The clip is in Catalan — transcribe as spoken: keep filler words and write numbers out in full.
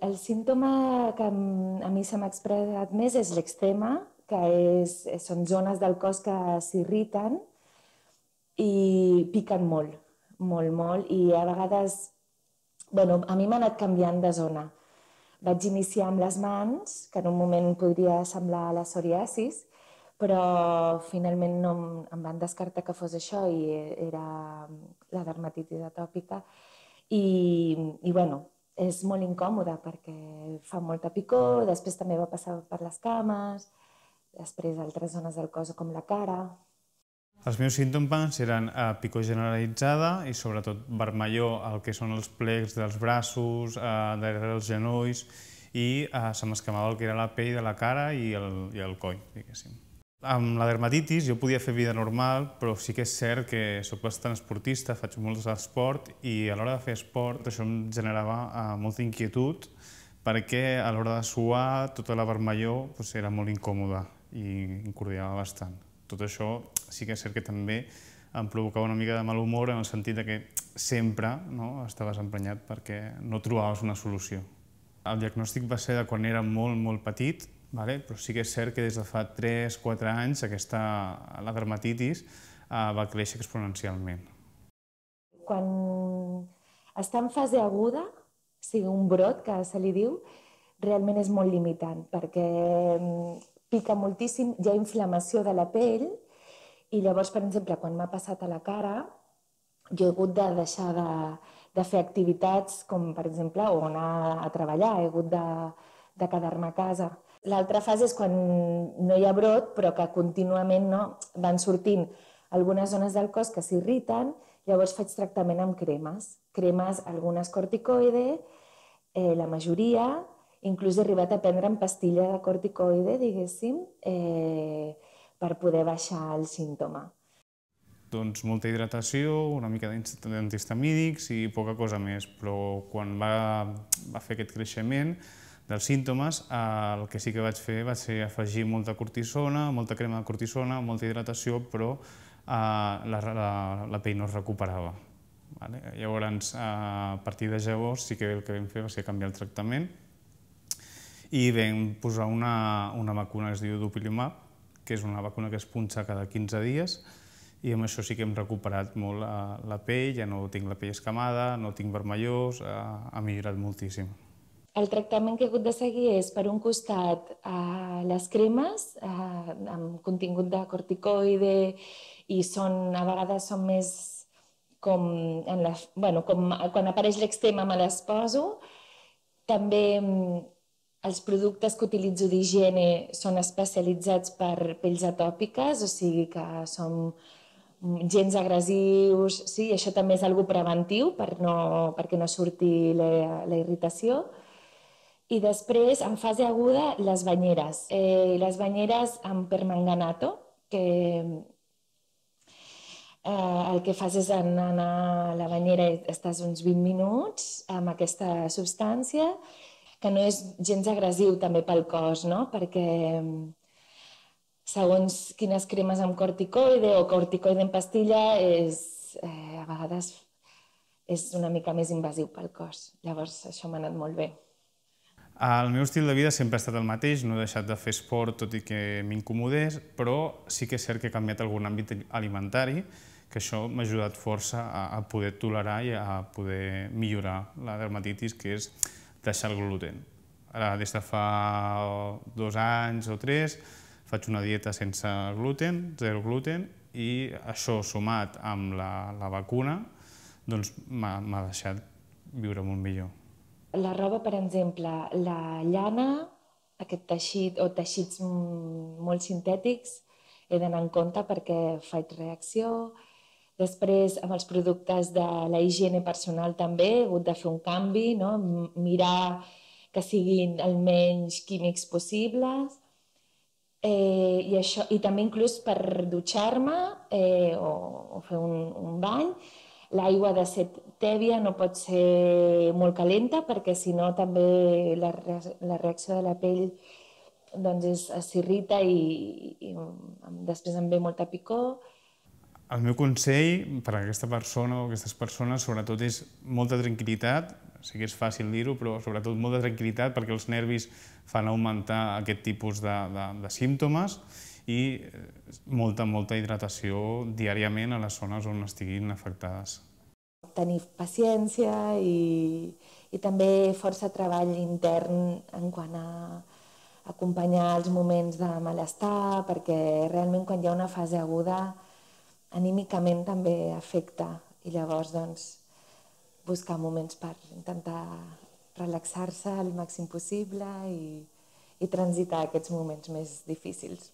El símptoma que a mi se m'ha expressat més és l'eczema, que és, són zones del cos que s'irriten i piquen molt, molt, molt, i a vegades, bueno, a mi m'ha anat canviant de zona. Vaig iniciar amb les mans, que en un moment podria semblar la psoriasis, però finalment no em van descartar que fos això i era la dermatitis atòpica. I, i bueno, és molt incòmode perquè fa molta picor, després també va passar per les cames, després altres zones del cos com la cara. Els meus símptomes eren picor generalitzada i sobretot vermellor al que són els plecs dels braços, darrere els genolls, i se m'escamava el que era la pell de la cara i el, i el coll, diguéssim. Amb la dermatitis jo podia fer vida normal, però sí que és cert que soc bastant esportista, faig molt d'esport i a l'hora de fer esport això em generava molta inquietud perquè a l'hora de suar tota la vermellor era molt incòmoda i incordiava bastant. Tot això sí que és cert que també em provocava una mica de mal humor en el sentit que sempre estaves emprenyat perquè no trobaves una solució. El diagnòstic va ser de quan era molt, molt petit, però sí que és cert que des de fa tres o quatre anys la dermatitis va créixer exponencialment. Quan està en fase aguda, o sigui, un brot, que se li diu, realment és molt limitant, perquè pica moltíssim, hi ha inflamació de la pell, i llavors, per exemple, quan m'ha passat a la cara, jo he hagut de deixar de, de fer activitats com, per exemple, o anar a treballar, he hagut de, de quedar-me a casa. L'altra fase és quan no hi ha brot, però que contínuament no, van sortint algunes zones del cos que s'irriten, llavors faig tractament amb cremes. Cremes, algunes corticoide, eh, la majoria, inclús he arribat a prendre en pastilla de corticoide, diguéssim, eh, per poder baixar el símptoma. Doncs molta hidratació, una mica d'antihistamínics i poca cosa més, però quan va, va fer aquest creixement dels símptomes, el que sí que vaig fer va ser afegir molta cortisona, molta crema de cortisona, molta hidratació, però la, la, la pell no es recuperava. Vale? Llavors, a partir de llavors, sí que el que vam fer va ser canviar el tractament i vam posar una, una vacuna que es diu Dupilumab, que és una vacuna que es punxa cada quinze dies, i amb això sí que hem recuperat molt la, la pell, ja no tinc la pell escamada, no tinc vermellós, ha, ha millorat moltíssim. El tractament que he hagut de seguir és, per un costat, eh, les cremes eh, amb contingut de corticoide i són, a vegades són més com, en la, bueno, com quan apareix l'eczema me les poso. També els productes que utilitzo d'higiene són especialitzats per pells atòpiques, o sigui que són gens agressius, sí, i això també és algo preventiu per no, perquè no surti la, la irritació. I després, en fase aguda, les banyeres. Eh, les banyeres amb permanganato, que eh, el que fas és anar a la banyera i estàs uns vint minuts amb aquesta substància, que no és gens agressiu també pel cos, no? Perquè segons quines cremes amb corticoide o corticoide en pastilla, és, eh, a vegades és una mica més invasiu pel cos. Llavors, això m'ha anat molt bé. El meu estil de vida sempre ha estat el mateix, no he deixat de fer esport tot i que m'incomodés, però sí que és cert que he canviat algun àmbit alimentari, que això m'ha ajudat força a poder tolerar i a poder millorar la dermatitis, que és deixar el gluten. Ara, des de fa dos anys o tres, faig una dieta sense gluten, zero gluten, i això sumat amb la, la vacuna doncs m'ha deixat viure molt millor. La roba, per exemple, la llana, aquest teixit o teixits molt sintètics, he d'anar en compte perquè faig reacció. Després, amb els productes de la higiene personal també he hagut de fer un canvi, no? Mirar que siguin el menys químics possibles. Eh, i, això, i també inclús per dutxar-me eh, o, o fer un, un bany, l'aigua ha de ser tèbia, no pot ser molt calenta, perquè si no també la, la reacció de la pell doncs s'irrita i, i després em ve molta picor. El meu consell per a aquesta persona o aquestes persones sobretot és molta tranquil·litat, sí que és fàcil dir-ho, però sobretot molta tranquil·litat perquè els nervis fan augmentar aquest tipus de, de, de símptomes i molta, molta hidratació diàriament a les zones on estiguin afectades. Tenir paciència i, i també força treball intern en quant a acompanyar els moments de malestar, perquè realment quan hi ha una fase aguda anímicament també afecta i llavors doncs, buscar moments per intentar relaxar-se el màxim possible i, i transitar aquests moments més difícils.